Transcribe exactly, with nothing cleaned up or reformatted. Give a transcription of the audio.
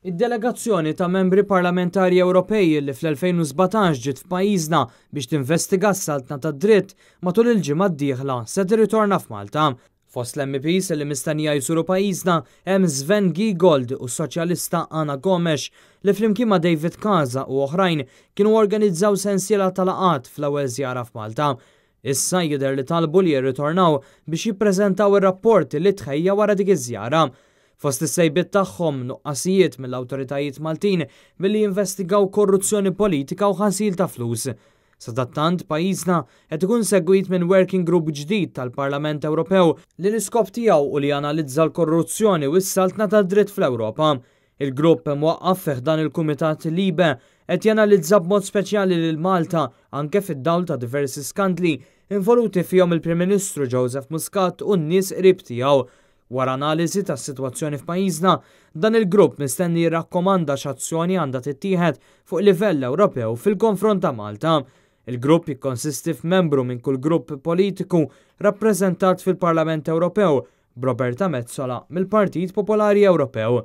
Id-delegazzjoni ta' membri parlamentari Ewropej li fl-elfejn u sbatax ġiet f'pajjiżna biex tinvestiga s-saltna tad-dritt matul il-ġimgħa d-dieħla se tirritorna f'Malta. Fost l-M Ps li mistennija jżuru pajjiżna hemm Sven Giegold u s-soċjalista Ana Gomes li flimkien ma' David Casa u oħrajn kienu organizzaw sensiela ta' laqgħat fl-ewwel żjara f'Malta. Issa jidher li talbu li jirritornaw biex jippreżentaw ir-rapport li tħejja wara dik iż-żjara. Fost is-sejbiet tagħhom nuqqasijiet mill-awtoritajiet Maltin billi jinvestigaw korruzzjoni politika u ħasil ta' flus. Sadattant pajjiżna qed ikun segwit minn working group ġdid tal-Parlament Ewropew li l-iskop tiegħu hu li janalizza l-korruzzjoni u s-saltna tad-dritt fl-Ewropa. Il-grupp imwaqqaf fih dan il-Kumitat Libe qed janalizza b'mod speċjali lil Malta anke fid-dawl ta' diversi skandli involuti fihom il-Prim Ministru Joseph Muscat u n-nies qrib tiegħu. Wara analiżi tas-sitwazzjoni f'pajjiżna, dan il-grupp mistenni jirrakkomanda x'azzjoni għandha tittieħed fuq livell Ewropew fil-konfront ta' Malta. Il-grupp jikkonsisti f'membru minn kull grupp politiku rappreżentat fil-Parlament Ewropew, b'Roberta Metsola mill-Partit Popolari Ewropew.